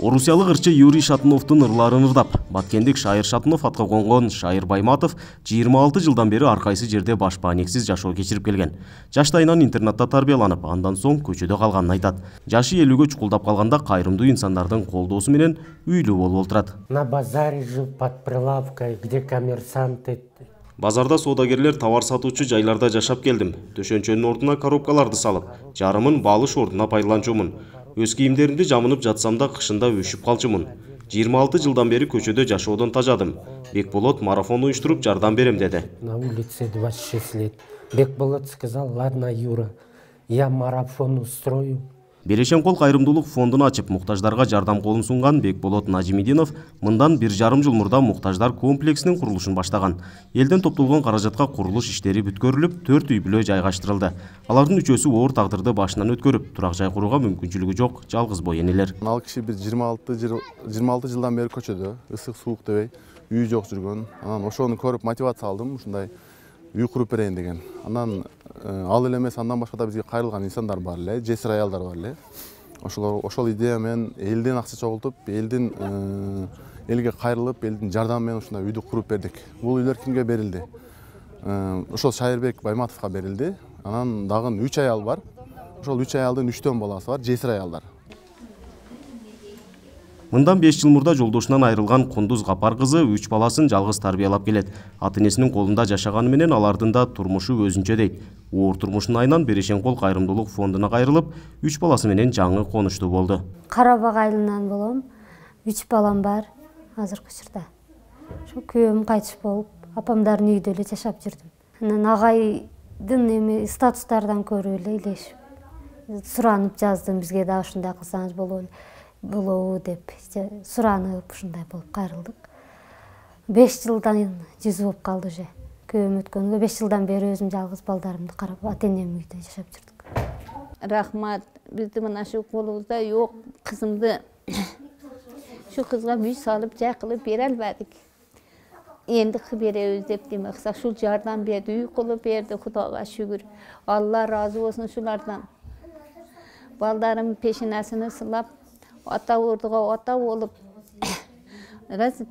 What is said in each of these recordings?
Орусиялык ырчы Юрий Шатуновдун ырларын ырдап, баткендик Шайыр Шатунов атка конгон Шайыр Байматов 26 жылдан бери ар кайсы жерде башпаанексиз жашоо кечирип келген. Жаштайынан интернатта тарбияланып, андан соң көчөдө калганын айтат. Жашы 50-гө чукулдап калганда кайрымдуу инсандардын колдоосу менен үйлүү болуп отурат. На базаре жил под прилавкой, где коммерсанты. Базарда соодагерлер товар сатуучу жайларда жашап келдим. Төшөнчөнүн ордуна коробкаларды салып, жарымын балыш ордуна пайдаланчумун. Өз кийимдеримди жамынып жатсам да кышында өшүп калчумун. 26 жылдан бери көчөдө жашоодон тажадым. Бекболот марафон уюштуруп жардам берем деди. На улице 26 лет. Бекболот сказал: "Ладно, Юра, я марафон устрою". Берешен кол кайрымдуулук фондун ачып, муктаждарга жардам колун сунган Бекболот Нажимидинов мындан 1,5 жыл мурда муктаждар комплексинин курулушун баштаган. Элден топтолгон каражатка курулуш иштери бүткөрүлүп, 4 үй-бүлө жайгаштырылды. Алардын үчөөсү оор тагдырды башынан өткөрүп, турак жай курууга мүмкүнчүлүгү жок жалгыз бой энелер. Ал киши биз 26 жылдан бери көчөдө, ысык суук дебей, үй жок жүргөн. Анан ошону көрүп мотивация алдым, ушундай үй куруп берейин деген. Анан ал эле эмес, андан башка да бизге кайрылган инсандар бар эле, жесир аялдар бар эле. Ошол идея менен элден акча чогултуп, элге кайрылып, элдин жардамы менен ушундай үйдү куруп бердик. Бул үйлөр кимге берилди? Ошол Шайырбек Байматовго берилди. Анан дагы 3 аял бар. Ошол 3 аялдын 3төн баласы бар, жесир аялдар. Мындан 5 жыл мурда жолдошунан айрылган Кундуз Капар кызы 3 баласын жалгыз тарбиялап келет. Ата-энесинин колунда жашаганы менен алардын да турмушу өзүнчө дейт. Оор турмушун айынан Берешен кол кайрымдуулук фондуна кайрылып, 3 баласы менен жаңы конуштуу болду. Карабак айылынан болом. 3 балам бар азыркы учурда. Ошо күйөөм кайтыш болуп, апамдардын үйдө эле жашап жүрдүм. Анан агайдын статустардан көрүп эле илешип, суранып жаздым, бизге да ушундай кылсаңыз болобу деп суранып, ушундай болуп кайрылдык. 5 жылдан жүз болуп калды уже. Күйөөм өткөнгө 5 жылдан бери өзүм жалгыз балдарымды карап, ата-энем үйдө жашап жүрдүк. Рахмат, бизди мына шу колубузда жок кызымды шу кызга үй салып, жай кылып бере албадык. Энди беребиз деп демексак, ушул жардам берди, үй кылып берди, Кудайга шүгүр. Алла ыраазы болсун шулардан. Балдарым пешенесин сылап, ата ордуга ата болуп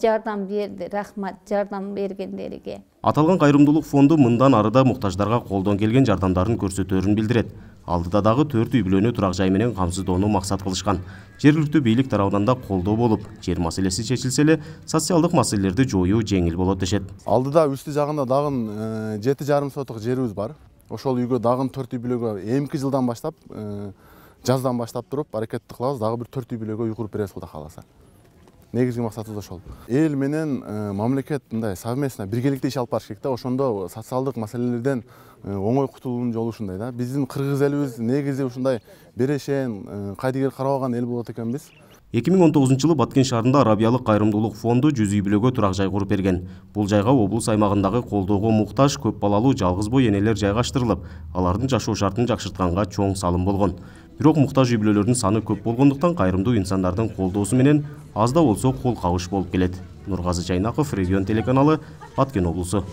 жардам берди. Рахмат жардам бергендерге. Аталган кайрымдуулук фонду мындан арыда муктаждарга колдон келген жардамдарын көрсөтөрүн билдирет. Алдыда дагы 4 үй-бүлөнү турак жай менен камсыздоону максат кылышкан. Жергиликтүү бийлик тарабынан да колдоо болуп, жер маселеси чечилсе эле, социалдык маселелерди жоюу жеңил болот дешет. Алдыда үстү жагында дагы 7,5 соток жерибиз бар. Ошол үйгө дагы 4 үй-бүлөгө эмки жылдан баштап, жаздан баштап туруп аракетти кылабыз, дагы бир 4 үй-бүлөгө үй куруп беребиз Кудай кааласа. Негизги максатыбыз ошол. Эл менен мамлекет мындай совместно биргеликте иш алып барыш керек да, ошондо социалдык маселелерден оңой кутулуунун жолу ушундай да. Биздин кыргыз элибиз негизи ушундай берешен, кайдыгер карабаган эл болот экенбиз. 2019-жылы Баткен шаарында Арабиялык кайрымдуулук фонду 100 үй-бүлөгө турак жай куруп берген. Бул жайга облус аймагындагы колдоого муктаж көп балалуу жалгыз бой энелер жайгаштырылып, алардын жашоо шартын жакшыртканга чоң салым болгон. Бирок муктаж үй-бүлөлөрдүн саны көп болгондуктан кайрымдуу инсандардын колдоосу менен аз да болсо кол кабыш болуп келет. Нургазы Жайнаков, Регион телеканалы, Баткен облусу.